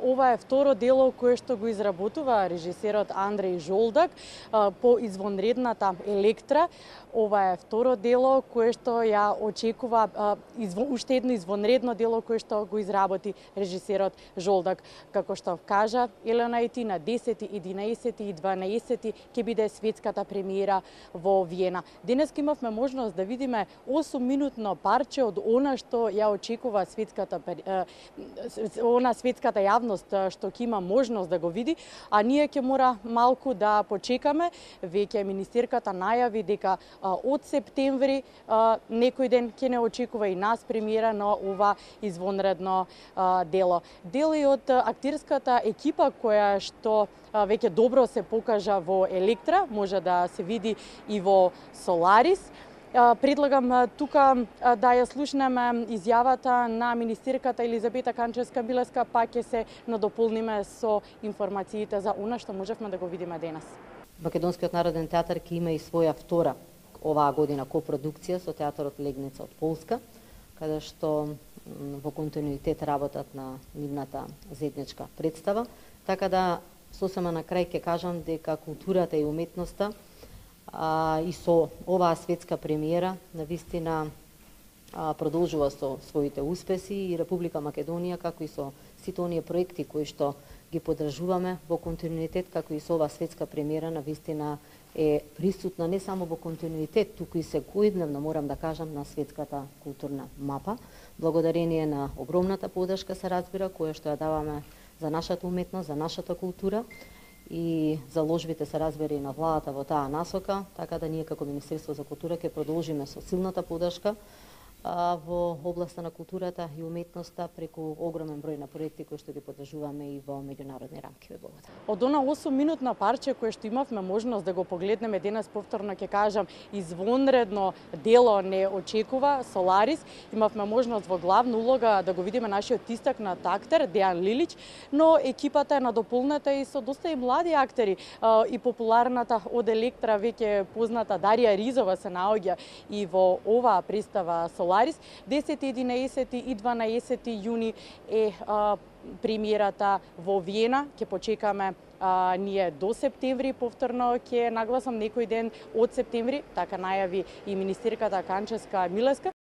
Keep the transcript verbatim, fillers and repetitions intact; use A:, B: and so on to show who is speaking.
A: ова е второ дело кое што го изработува режисерот Андреј Жолдак по извонредната Електра. Ова е второ дело кое што ја очекува уште едно извонредно дело кое што го изработи режисерот Жолдак. Како што кажа Елена Ети, на десети, единаесети и дванаесети ќе биде светската премиера во Виена. Денес имавме можност да видиме осум минутно парче од она што ја очекува светската она светската јавност што ќе има можност да го види, а ние ќе мора малку да почекаме. Веќе министерката најави дека од септември некој ден ќе не очекува и нас премиера на ова извонредно дело. Дел и од актерската екипа која што веќе добро се покажа во Електра, може да се види и во Соларис. Предлагам тука да ја слушнеме изјавата на министерката Елизабета Канчевска-Милеска, па ќе се надополниме со информациите за она што можевме да го видиме денес.
B: Македонскиот народен театар ќе има и своја втора оваа година копродукција со театарот Легница од Полска, каде што во континуитет работат на нивната заедничка представа. Така да сосема на крај ќе кажам дека културата и уметноста а, и со оваа светска премиера навистина а, продолжува со своите успеси и Република Македонија, како и со сите оние проекти кои што ги поддржуваме во континуитет, како и со оваа светска премиера навистина е присутна не само во континуитет, туку и секојдневно, морам да кажам, на светската културна мапа, благодарение на огромната поддршка, се разбира, која што ја даваме за нашата уметност, за нашата култура и заложбите, се разбира, и на владата во таа насока, така да ние како Министерство за култура ќе продолжиме со силната поддршка во областа на културата и уметноста преку огромен број на проекти кои што ги поддржуваме и во меѓународни рамки во Богата.
A: Од она осум минутна парче кое што имавме можност да го погледнеме денес, повторно ќе кажам, извонредно дело не очекува Соларис. Имавме можност во главна улога да го видиме нашиот истакнат актер Дејан Лилич, но екипата е надополнета и со доста и млади актери. И популарната од Електра веќе позната Дарија Ризова се наоѓа и во оваа представа Соларис. десети, единаесети и дванаесети јуни е а, премиерата во Виена. Ќе почекаме а, ние до септември, повторно ќе нагласам некој ден од септември, така најави и министерката Канчевска-Милеска,